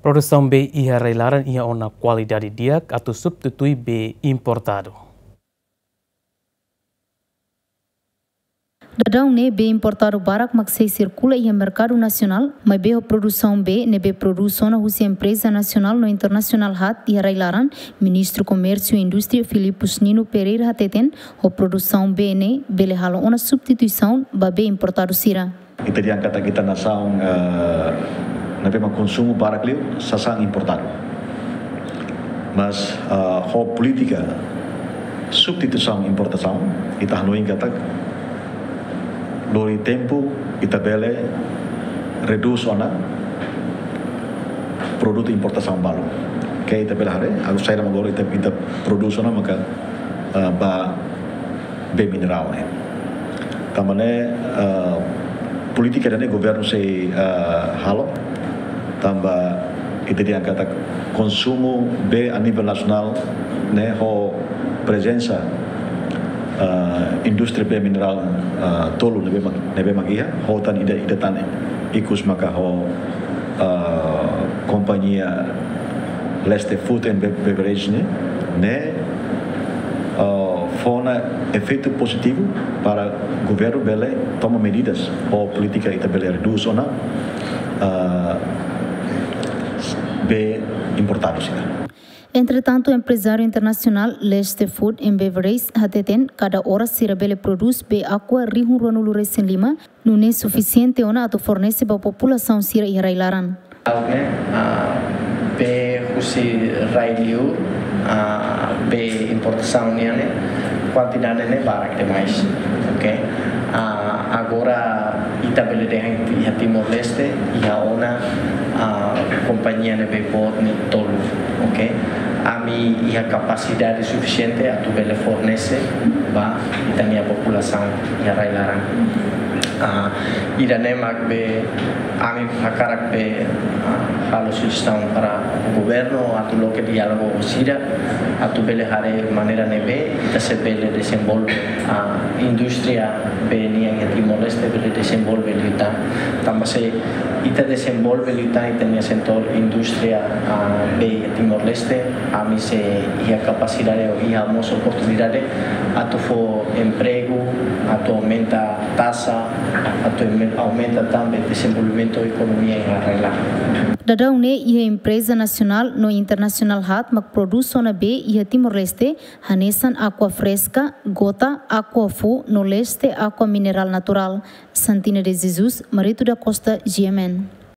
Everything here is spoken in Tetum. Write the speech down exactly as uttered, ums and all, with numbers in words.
Produsaun bee iha rai-laran iha ona kualidade di'ak atu substitui bee importadu. Daudaun ne'e bee importadu barak mak sei sirkula iha merkadu nasionál, maibé ho produsaun bee ne'ebé prodús ona husi empreza nasionál no internasionál haat iha rai-laran, Ministru Komérsiu no Indústria Filipus Nino Pereira hateten, ho produsaun bee ne'e bele halo ona substituisaun ba bee importadu sira. Ita dehan katak ita nasaun, eh, ne'ebé mak konsumu barak liu sasán importadu. Mas, eh, ho polítika substituisaun importasaun, ita hanoin katak lori tempu ita bele redús ona produtu importasaun balu. Ke ita bele haree, agora saida mak agora ita, ita prodús ona maka, eh, ba bee minerál ne'e. Tanba ne'e, eh, polítika ida-ne'e governu sei, eh, halo. Tanba ita dehan katak konsumu bee a nivel nasionál ne'e ho prezensa, eh, indústria bee minerál, eh, tolu ne'ebé mak, ne'ebé mak iha, ho tan ida, ida tan ikus maka ho, eh, kompañia Leste Food and Be-, Beverage ne'e, ne'e, eh, fó ona efeitu pozitivu para governu bele toma medidas ho polítika ita bele redús ona, eh, bee importadu sira. Entretantu, emprezáriu internasionál Leste Food and Beverage hateten, kada oras sira bele prodús bee Aqua rihun ruanulu resin lima, nune'e sufisiente ona atu fornese ba populasaun sira iha rai-laran. Ne'e, ah, bee husi rai-liur, ah, bee importasaun nian ne'e, kuantidade ne'e barak demais. Oke. Ah, agora ita bele dehan iha Timor-Leste iha ona, ah, kompañia ne'ebé boot ne'e tolu. Oke. Ami iha kapasidade sufisiente atu bele fornese ba ita-nia populasaun iha rai-laran. Ah, ida-ne'e mak be ami hakarak be, ah, halo sujestaun para governu atu loke diálogu ho sira, atu bele haree maneira ne'ebé ita sei bele dezenvolve, ah, indústria bee nian iha Timor-Leste bele dezenvolve liután. Tanba se ita dezenvolve liután ita-nia setór indústria, ah, bee iha Timor-Leste, ami sei iha kapasidade ou iha mós oportunidade atu fó empregu, atu aumenta taxa, atu aume-, aumenta tanba dezenvolvimentu ekonomia iha rai-laran. Daudaun ne'e iha empreza nasionál no internasionál haat mak prodús ona bee iha Timor-Leste, hanesan Aqua Fresca, Gota, Aqua Fu, no Leste Aqua Mineral Natural. Santina de Jesus, Marito da Costa, G M N.